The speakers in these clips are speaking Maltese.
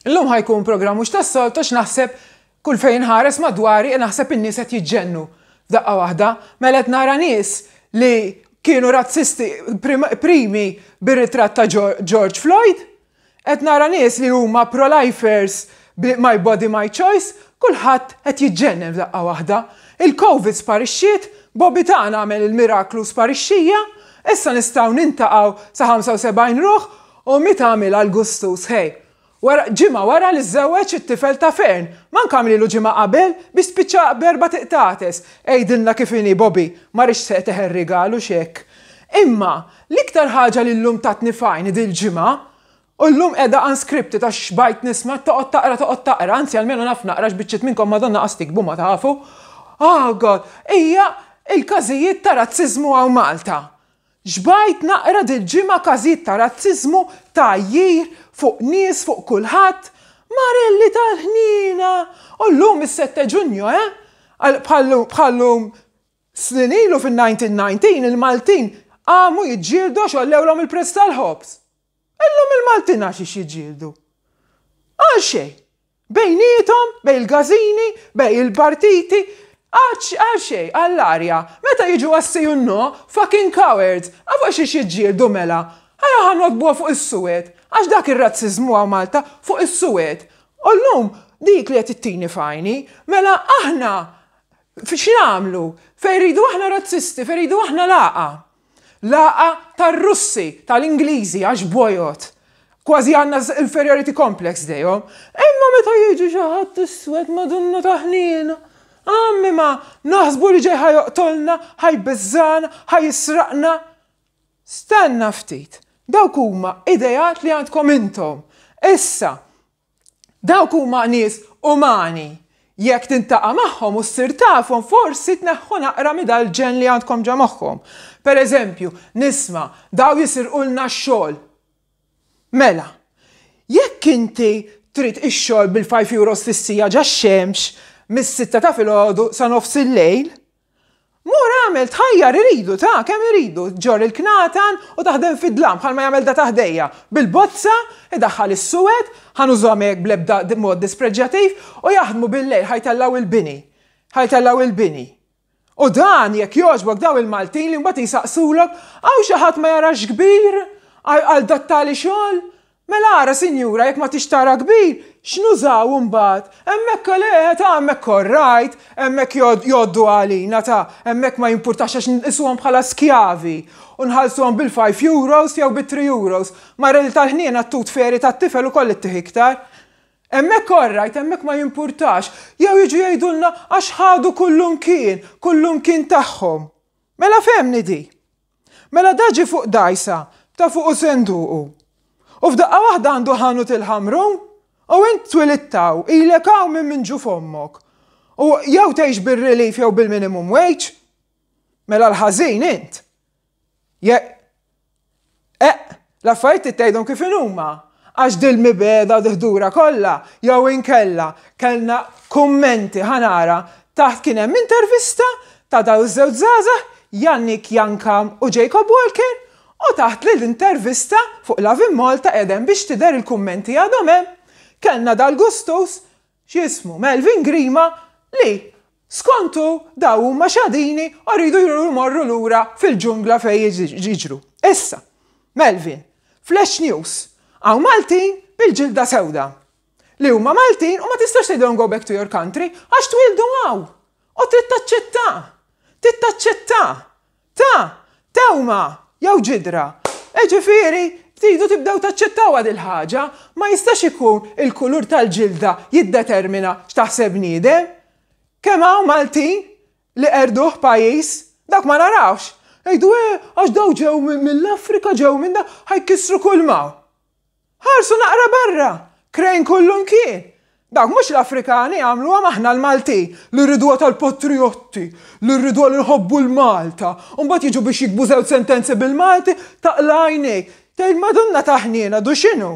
Illum ħa jkun programm mhux tas-soltu għax naħseb kull fejn inħares madwari naħseb in-nies qed jiġġennu f'daqqa waħda. Mela qed nara nies li kienu razzisti primi bir-ritratt ta' George Floyd, qed nara nies li huma pro-lifers bi my body my choice, kulħadd qed jiġġennen f'daqqa waħda. Il-Covid sparixxiet, Bobby tagħna għamel il-miraklu sparixxija, issa nistgħu nintaqgħu sa 75 ruħ U mit għamilha l-gustus, ħej. Wara, ġimgħa wara li żżewweġ it-tifel ta' Fern. Mank għamlilu ġimgħa qabel, biex spiċċa b'erbat iqtates. Għidilna kif inhi, Bobby. Ma rridx se teħel rigal hux hekk. Imma, l-iktar ħaġa li llum tatni f'għajni dil-ġimgħa, u llum qiegħda unscripted għax xbajt nisma' toqgħod taqra toqgħod taqra, anzi almenu naf naqra għax biċċiet minnkom Madonna qas tiktbu ma tafu, oh God, hija l-każijiet ta' razziżmu hawn Malta. Xbajt naqra dil-ġimgħa każijiet ta' razziżmu, tgħajjir, fuq nies, fuq kulħadd. Marelli tal-ħniena! U llum is-Sette Ġunju, eh? Bħal-lum snin ilu fin-1919 il-Maltin qamu jiġġieldu għax għollewlhom il-prezz tal-ħobż. Illum il-Maltin għax ix jiġġieldu? Għal xejn. Bejniethom, bejn il-każini, bejn il-partiti, għal xejn, għall-arja. Meta jiġu għas-sì u n-no, fucking cowards! A fuq xiex jiġġieldu mela? Ħa ħa nogħdbuha fuq is-suwed. Għax dak ir-razziżmu hawn Malta, fuq is-suwed. U llum dik li qed ittini f'għajni. Mela aħna x'nagħmlu? Fejn rridu aħna razzisti, fejn rridu aħna lagħqa. Lagħqa tar-Russi, tal-Ingliżi għax bojod. Kważi għandna inferiority complex dejhom. Imma meta jiġi xi ħadd iswed Madonna ta' ħniena. Għammi ma naħsbu li ġej ħa joqtolna, ħa jbeżżagħna, ħa jisraqna. Stenna ftit. Dawk huma ideat li għandkom intom. Issa, Dawk huma nies umani. Jekk tintaqa' magħhom u ssir tafhom forsi tneħħu naqra mi dal-ġenn li għandkom ġo moħħkom. Per eżempju, nisma' daw jisirqulna x-xogħol. Mela, jekk inti trid ix-xogħol bil-five euros fis-siegħa ġax-xemx mis-sitta ta' filgħodu sa nofs il-lejl, Mur agħmel, tħajjar iridu, ta' kemm iridu, ġorr il-knatan u taħdem fid-dlam bħalma jagħmel da ta' ħdejja, bil-bozza, idaħħal is-suwed, ħa nużahom hekk bl-ebda mod dispreġġjativ, u jaħdmu bil-lejl ħa jtellgħu il-bini. Ħa jtellgħu il-bini. U dan, jekk jogħġbok, daw il-Maltin li mbagħad jsaqsulok, hawn xi ħadd ma jarax kbir għal dat-tali xogħol? Mela ara, sinjura, jekk ma tix tara kbir, x'nużaw imbagħad? Hemmhekk le, ta' hemmhekk all right, hemmhekk jgħoddu għalina, ta' hemmhekk ma jimpurtax għax nqisuhom bħala skjavi u nħallsuhom bil-five euros jew bit-three euros. Mara li tal-ħniena t-tooth fairy tat-tifel ukoll ittih iktar. Hemmhekk all right, hemmhekk ma jimpurtax. Jew jiġu jgħidulna għax ħadu kullumkien, kullumkien tagħhom. Mela fehmni di. Mela da ġie fuq dgħajsa ta' fuqu senduqu. U f'daqqa waħda għandu ħanut il-Ħamrun? U int twilidt hawn, ilek hawn minn minn ġuf ommok. U jew tgħix bir-relief jew bil-minimum wage? Mela l-ħażin int. Je Eqq, l-affarijiet trid tgħidhom kif inhuma. Għax dil-mibegħda u dil-ħdura kollha, jew inkella kellna kummenti, ħa nara, taħt kien hemm intervista ta' dawn iż-żewġ żgħażagħ, Yannick Yankam u Jacob Walker, u taħt l-intervista fuq Love in Malta qiegħda hemm biex tidher il-kummenti għadhom hemm, kellna dal-gustus x'jismu Melvin Grima li skont hu daw huma xadini u rridu jmorru lura fil-ġungla fejn jiġru. Issa, Melvin, Flash News, hawn Maltin bil-ġilda sewda li huma Maltin u ma tistax tgħidilhom go back to your country għax twieldu hawn u trid taċċetta. Trid taċċetta. Ta' tewma jew ġidra. Jiġifieri, tridu tibdew taċċettawha dil-ħaġa. Ma jistax ikun il-kulur tal-ġilda jiddetermina x'taħseb bniedem. Kemm hawn Maltin li qerduh pajjiż, dawk ma narawx. Jgħidu eh għax daw ġew mill-Afrika, ġew minn da, ħa jkissru kull m'hawn. Ħarsu naqra barra! Krejn kullumkien! Dawk mhux l-Afrikani għamluha m'aħna l-Maltin li rriduha tal-patrijotti, li rriduha li nħobbu l-Malta. U mbagħad jiġu biex jiktbu żewġ sentenzi bil-Malti, taqla' għajnejk. Tgħid Madonna ta' ħniena, du x'inhu?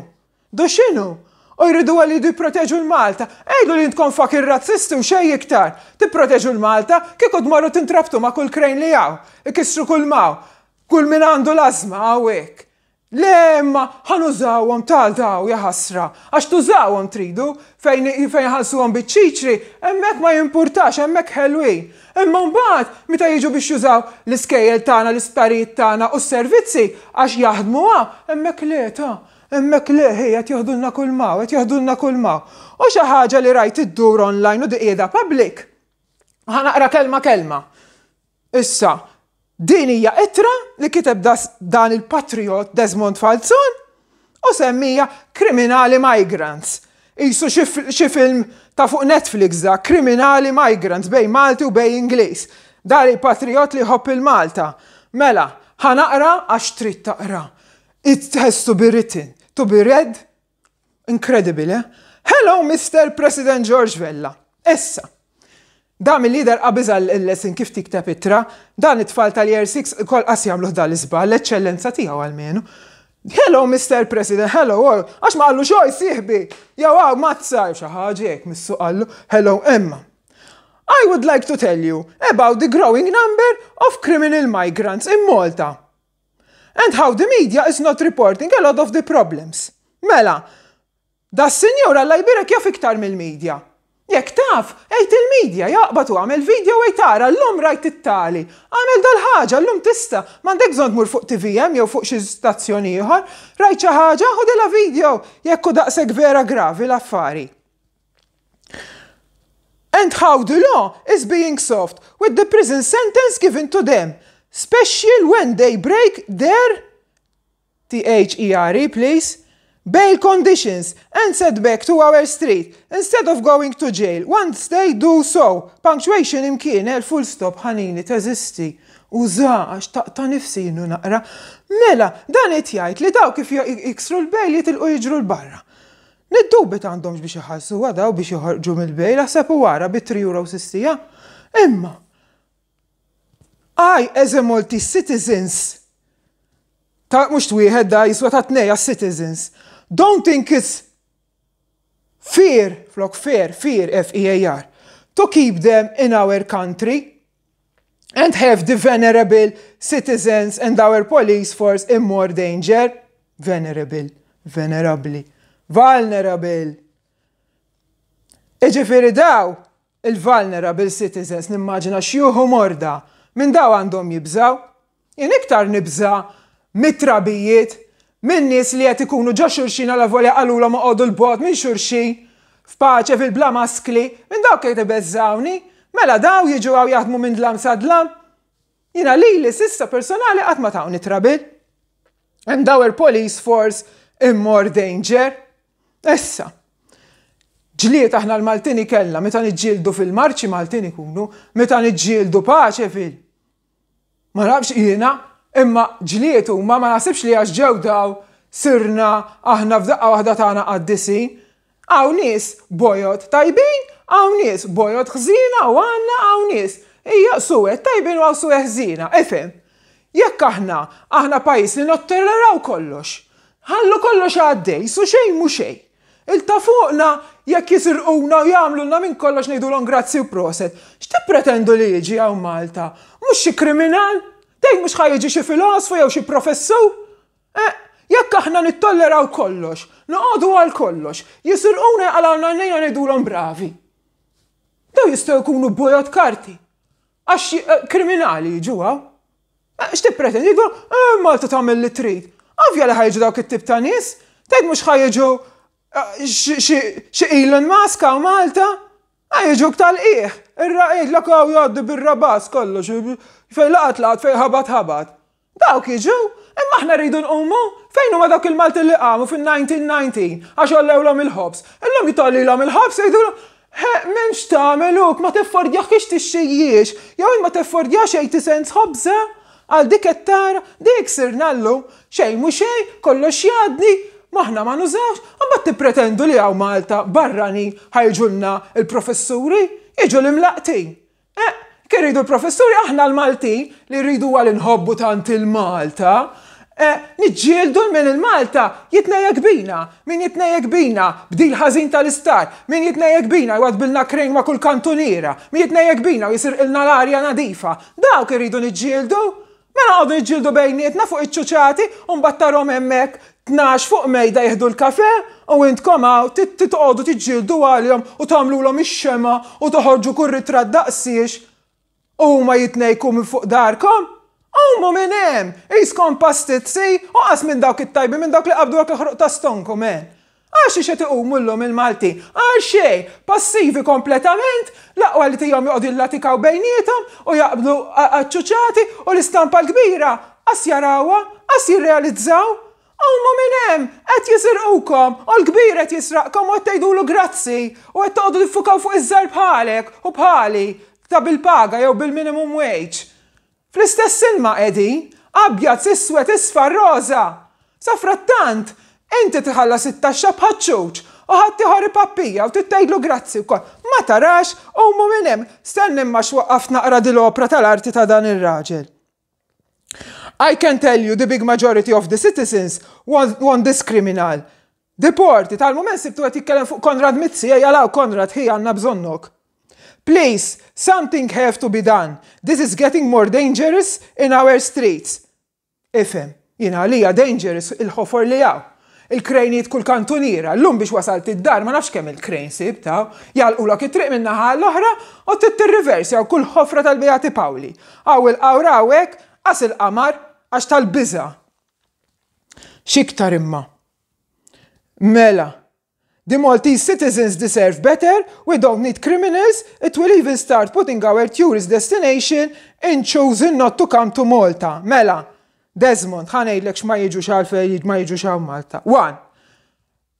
Du x'inhu? U jriduha li jridu jipproteġu l-Malta. Għidu li intkom fucking razzisti u xejn iktar. Tipproteġu l-Malta, kieku tmorru tintrabtu ma' kull krejn li hawn. Ikissru kull m'hawn. Kull min għandu l-ażma hawnhekk. Le imma ħa nużawhom ta' daw jaħasra. Għax tużawhom tridu fejn fejn ħallsuhom biċ-ċiċri, hemmhekk ma jimpurtax, hemmhekk ħelwin. Imma mbagħad meta jiġu biex jużaw l-iskejjel tagħna, l-isptarijiet tagħna u s-servizzi għax jaħdmu hawn, hemmhekk le ta', hemmhekk le ħi qed joħdulna kull m'hawn, qed joħdulna kull m'hawn. U xi ħaġa li rajt iddur online u di qiegħda public. Ħa naqra kelma kelma. Issa, din hija ittra li kiteb dan il-patriot Desmond Falzon u semmija Kriminali Migrants. Isu xi film ta' fuq Netflix da, Kriminali Migrants bejn Malti u bejn Ingliż. Dan il-patriot li jħobb il-Malta. Mela, ħa naqra għax trid taqra. It has to be written, to be read Incredible, eh? Hello, Mr. President George Vella. Issa, da mill-lider qabiż il-lesson kif tikteb ittra, dan it-tfal tal-Year 6 kol qas jagħmluh dan l-iżball, l-eċċellenza tiegħu almenu. Hello, Mr. President, hello, għax ma qallu xoj sieħbi, jew għaw mazza, xi ħaġa hekk missu qallu, hello Emma. I would like to tell you about the growing number of criminal migrants in Malta. And how the media is not reporting a lot of the problems. Mela, da s-sinjur Alla jbierek jaf iktar mill-media. Jekk taf, għid il-media, jaqbad u għamel video għid ara llum rajt it-tali. Għamel dal-ħaġa, llum tista', m'għandek bżonn tmur fuq TVM jew fuq xi stazzjon ieħor. Rajt xi ħaġa, ħudilha video jekk hu daqshekk vera gravi l-affari. And how the law is being soft with the prison sentence given to them, special when they break their THERE please, bail conditions and set back to our street instead of going to jail once they do so. Punctuation imkien, eh, full stop ħanini teżisti. Uża għax taqta' nifsi jien u naqra. Mela, dan qed jgħid li dawk kif jiksru l-bail jitilqu jiġru 'l barra. Niddubita għandhomx biex iħallsuha daw biex joħorġu mill-bail, aħseb u ara bi 3 euros is-siegħa. Imma, I as a Maltese citizens, ta' mhux twieħed da jiswa ta' tnej għas-citizens, don't think it's fair, flok fair, fear, F-E-A-R, to keep them in our country and have the venerable citizens and our police force in more danger. Venerable, venerabli, vulnerable. Iġifieri daw il-vulnerable citizens nimmaġina xjuħ u morda minn daw għandhom jibżaw. Jien iktar nibża' mit-trabijiet, minn nies li qed ikunu ġo xulxin alavolja qalulhom oqogħdu 'l bogħod minn xulxin, f'paċe fil-bla maskli, minn dawk qed ibeżżgħuni. Mela daw jiġu hawn jaħdmu minn dlam sa dlam? Jiena lili s'issa personali qatt ma tawni trouble. And our police force in more danger. Issa, ġlied aħna l-Maltin ikellna meta niġġieldu fil-marċi Maltin ikunu, meta niġġieldu paċe fil. Ma nafx jiena, imma ġlied huma ma naħsibx li għax ġew daw sirna aħna f'daqqa waħda tagħna qaddisin. Hawn nies bojod tajbin, hawn nies bojod ħżiena u għandna hawn nies hija suwed tajbin u hawn suwed ħżiena. Ifhem, jekk aħna aħna pajjiż li nottolleraw kollox, ħallu kollox għaddej, su xejn mhu xejn. Il ta' fuqna jekk jisirquna u jagħmlulna minn kollox ngħidulhom grazzi u proset. X'tippretendu li jiġi hawn Malta? Mhux xi kriminal? Tgħid mhux ħa jiġi xi filosfu jew xi professur? Eh, jekk aħna nittolleraw kollox, noqogħdu għal kollox, jisirquna jqalgħulna għajnejna ngħidulhom bravi. Daw jistgħu jkunu bojod karti. Għax eh, kriminali jiġu hawn. Eh, x'tippretendi? Jgħidu, eh, Malta tagħmel li trid. Ovvja li ħajġu dawk it-tip ta' nies, tgħid mhux ħajġu eh, xi Elon Musk hawn Malta, ħajġuk tal-qiegħ. Irraqid hawn jgħaddi bir-rabas kollox, fejn laqat laqat fejn ħabat ħabat. Dawk jiġu, imma aħna rridu nqumu, fejn huma dawk il-Maltin li qamu fin-1919 għax għollewlhom il-ħobż. Illum jitollilhom il-ħobż jgħidulhom M'hemmx tagħmel huk, ma teffordjahx tixxijiex, jew ma teffordjax 80 cents ħobża, għal dik qed tara, dik sirna llum, xejn mhu xejn, kollox jgħaddi, m'aħna ma nużawx, imbagħad tippretendu li hawn Malta barranin ħa jiġulna l-professuri, jiġu l-imlaqqtin. Eh, kien rridu l-professuri aħna l-Maltin li rridu għal inħobbu tant il-Malta, eh, niġġieldu minn il-Malta jitnejjek bina, min jitnejjek bina bdil ħażin tal-istar, min jitnejjek bina jwadbilna krejn ma' kull kantuniera, min jitnejjek bina u jisirqilna l-arja nadifa. Dawk irridu niġġieldu. Mela noqogħdu niġġieldu bejnietna fuq iċ-ċuċati u mbagħad tarhom hemmhekk 12 fuq mejda jieħdu l-kafè u intkom hawn titqogħdu tiġġieldu għalihom u tagħmlulhom ix-xemgħa u toħorġu kull ritratt daqsiex u huma jitnejku minn fuq darkom. Qumu minn hemm! Qiskom pastizzi u qas minn dawk it-tajbin minn dawk li qabdu dak il-ħruq ta' stonku, man. Għal xiex qed iqumu llum il-Maltin? Għal xejn! Passivi kompletament, l-aqwa li tihom joqogħdu jillatikaw bejniethom u jaqbdu għaċ-ċuċati u l-istampa l-kbira qas jarawha, qas jirrealizzaw. Qumu minn hemm! Qed jisirqukom u l-kbir qed jisraqkom u qed tgħidulu grazzi u qed toqogħdu tiffukaw fuq iż-żgħir bħalek u bħali ta' bil-paga jew bil-minimum wage. Fl-istess ilma qegħdin, abjad, iswed, isfar, roża. Safrattant, inti tħallas it-taxxa bħaċ-ċuċ u ħaddieħor ipappija u trid tgħidlu grazzi wkoll. Ma tarax, qumu minn hemm. Stenna imma x'waqqaft naqra dil-opra tal-arti ta' dan ir-raġel. I can tell you the big majority of the citizens want, want this criminal deported. Għal-mument sibtu qed jitkellem fuq Konrad Mizzi, ejja law Konrad, ħi għandna bżonnok. Please, something have to be done. This is getting more dangerous in our streets. Ifhem, jiena għalija dangerous il-ħofor li hawn. Il-krejnijiet kull kantuniera, llum biex wasalt id-dar ma nafx kemm il-krejn sibt hawn, jagħlqulok it-triq minn naħa għall-oħra u trid tirriversja u kull ħofra tal-Beati Pawli. Hawn il-qawra hawnhekk, qas il-qamar għax tal-biża'. X'iktar imma? Mela, The Maltese citizens deserve better, we don't need criminals, it will even start putting our tourist destination in choosing not to come to Malta. Mela, Desmond, ħa ngħidlek x'ma jiġux għalfejn ma jiġux hawn Malta. One,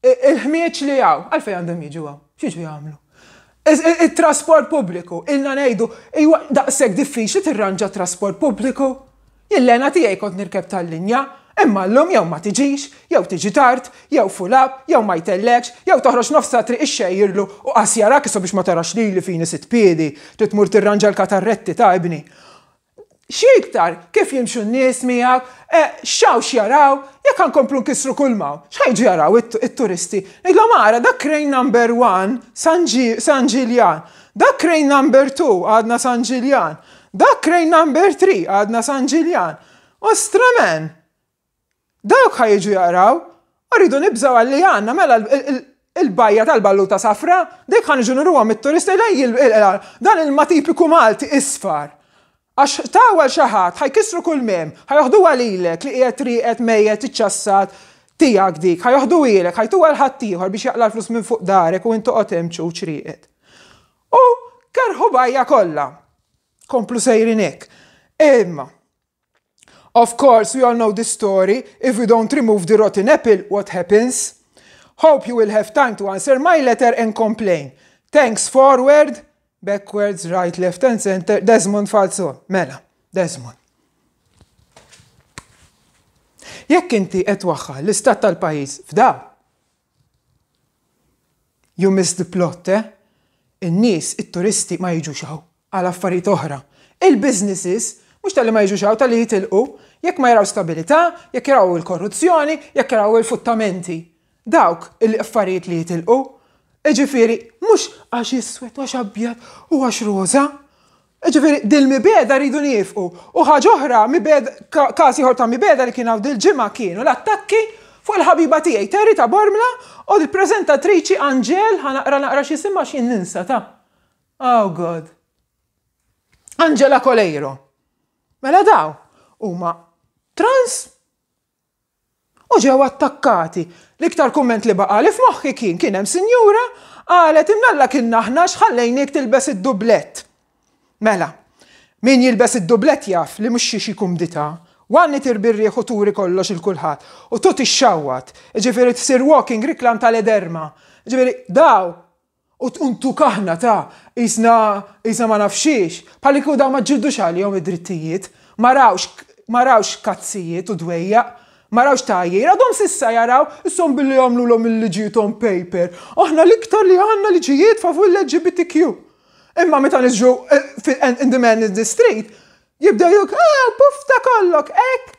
il-ħmieġ li hawn, għalfejn għandhom jiġu hawn? X'jiġu jagħmlu? It-trasport pubbliku, ilna ngħidu, iwa daqshekk diffiċli tirranġa trasport pubbliku. Jien l-hena tiegħi kont nirkeb tal-linja, imma llum jew ma tiġix, jew tiġi tard, jew full up, jew ma jtellgħekx, jew toħroġ nofs ta' triq ixxejjirlu u qas jarak issa biex ma tarax lili fini sitt piedi, trid tmur tirranġa l-katarretti ta' ibni. X'iktar, kif jimxu n-nies miegħek, x'hawn x'jaraw, jekk ħa nkomplu nkissru kull m'hawn, x'ħa jiġu jaraw it-turisti? Ngħidilhom ara dak crane number one San Ġiljan, dak crane number two għadna San Ġiljan, Dak crane number 3 għadna San Ġiljan. Ostra man! Dawk ħa jiġu jaqraw, u rridu nibżgħu għal li għandna mela il-bajja tal-balluta safra, dik ħa niġu nuruhom it-turisti dan ilma tipiku Malti isfar. Għax taw għal xi ħadd ħa jkissru kull mem, ħa joħduha lilek li qiegħed rieqed mejjet iċċassat tiegħek dik, ħa joħduhielek, ħa jtuha 'l ħaddieħor biex jaqla' l-flus minn fuq darek u int toqgħod hemm ċuċ rieqed. U kerħu bajja kollha. Komplu sejrin hekk. Imma, of course, we all know this story. If we don't remove the rotten apple, what happens? Hope you will have time to answer my letter and complain. Thanks forward, backwards, right, left and center, Desmond Falzon. Mela, Desmond. Jekk inti qed twaħħal l-istat tal-pajjiż f'daw, You missed the plot, eh? In-nies, it-turisti ma jiġux hawn għal affarijiet oħra. Il-businesses, mhux talli ma jiġux hawn, talli jitilqu, jekk ma jaraw stabilità, jekk jaraw il-korruzzjoni, jekk jaraw il-futtamenti. Dawk il-affarijiet li jitilqu. Jiġifieri, mhux għax iswed u għax abjad u għax roża. Jiġifieri dil-mibegħda rridu niefqu. U ħaġa oħra, każ ieħor ta' mibegħda li kien hawn dil-ġimgħa kienu l-attakki fuq il-ħabiba tiegħi Terry ta' Bormla u l-preżentatriċi Angel, ħa naqra naqra x'isimha għax jien ninsa ta'. Oh God. Angela Coleiro. Mela daw huma trans U ġew attakkati. L-iktar kumment li baqagħli f'moħħi kien kien hemm sinjura qalet imnalla kienna aħna x'ħallejniek tilbes id-dublett. Mela, min jilbes id-dublett jaf li mhux xi xi kumdità. One itir bir-riħ u turi kollox 'il kulħadd. U two tixxawwat. Jiġifieri tsir walking reklam tal-ederma. Jiġifieri daw U ntuk aħna ta' qisna qisna ma nafx xiex, bħal li kieku dawn ma ġġildux għalihom id-drittijiet, ma rawx ma rawx kazzijiet u dwejjaq, ma rawx tgħajjir, għadhom s'issa jaraw, ishom billi jagħmlulhom il-liġijiet on paper. Aħna l-iktar li għandna liġijiet favur l-LGBTQ. Imma meta niġu in the man in the street, jibdew jgħidulek, ah, puff ta' kollok, hekk,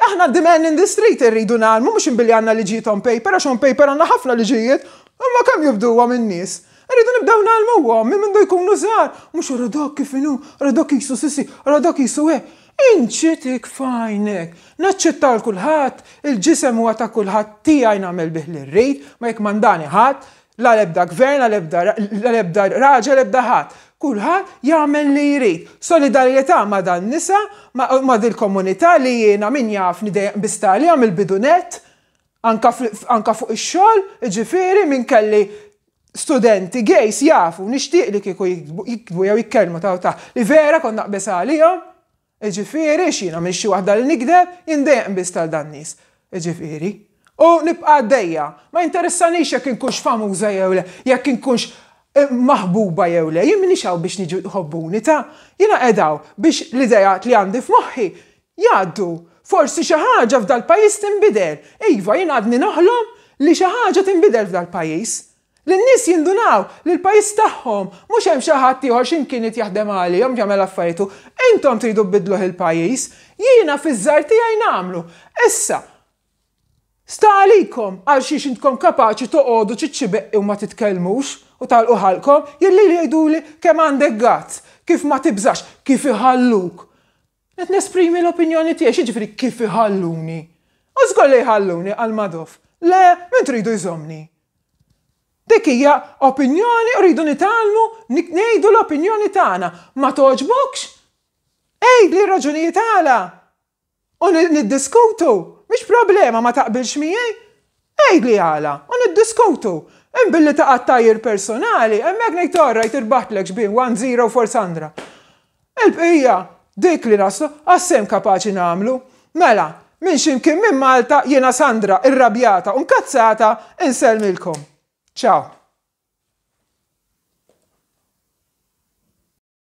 Aħna the man in the street irridu ngħallmu mhux billi għandna liġijiet on paper għax on paper għandna ħafna liġijiet, imma kemm jobduhom in-nies. Irridu nibdew ngħallmuhom minn mindu jkunu żgħar, mhux ara dak kif inhu, ara dak qisu sissi, ara dak qisu hekk. Inċitik f'għajnek! Naċċetta 'l kulħadd, il-ġisem huwa ta' kulħadd tiegħi nagħmel bih li rrid, ma jikkmandani ħadd, la l-ebda gvern, la l-ebda la l-ebda raġel, ebda ħadd. Kulħadd jagħmel li jrid. Solidarjetà ma' dan-nisa, ma' dil-komunità li jiena min jafni dejjem qbist għaliha mill-bidu nett, anka anka fuq ix-xogħol, jiġifieri min kelli studenti gays jafu, nixtieq li kieku jiktbu jew jitkellmu ta' ta' li vera kont naqbeż għalihom, jiġifieri x'jiena m'iniex xi waħda li nigdeb, jien dejjem qbiżt għal dan-nies, jiġifieri. U nibqa' għaddejja. Ma jinteressanix jekk inkunx famuża jew le, jekk inkunx maħbuba jew le, jien m'iniex hawn biex niġu tħobbuni ta', jiena qiegħda hawn biex l-ideat li għandi f'moħħi jgħaddu. Forsi xi ħaġa f'dal-pajjiż tinbidel. Iva, jien għadni noħlom li xi ħaġa tinbidel f'dal-pajjiż. Li n-nies jindunaw li l-pajjiż tagħhom, mhux hemm xi ħadd ieħor xi mkien irid jaħdem għalihom, jagħmel affarietu. Intom tridu tbiddluh il-pajjiż. Jiena fiż-żgħar tiegħi nagħmlu. Issa, sta għalikom għal xiex intkom kapaċi toqogħdu ċiċċibeqqi u ma titkellmux u tagħlqu ħalqkom, jien lili jgħiduli kemm għandek guts, kif ma tibżax, kif iħalluk. Qed nesprimi l-opinjoni tiegħi, x'jiġifieri kif iħalluni? U żgur li jħalluni, qal Madoff. Le, min tridu jżommni? Dik hija opinjoni u rridu nitgħallmu ngħidu l-opinjoni tagħna. Ma togħġbokx? Għidli r-raġunijiet għala. U niddiskutu. Mhix problema ma taqbilx miegħi. Għidli għala u niddiskutu. Imma billi taqa' tgħajjir personali, hemmhekk ngħid all right irbaħtlek xbin 1-0 for Sandra. Il-bqija, dik li naslu, għas-sehem kapaċi nagħmlu. Mela, minn xi mkien minn Malta jiena Sandra, irrabjata u nkazzata, insellmilkom. Ciao.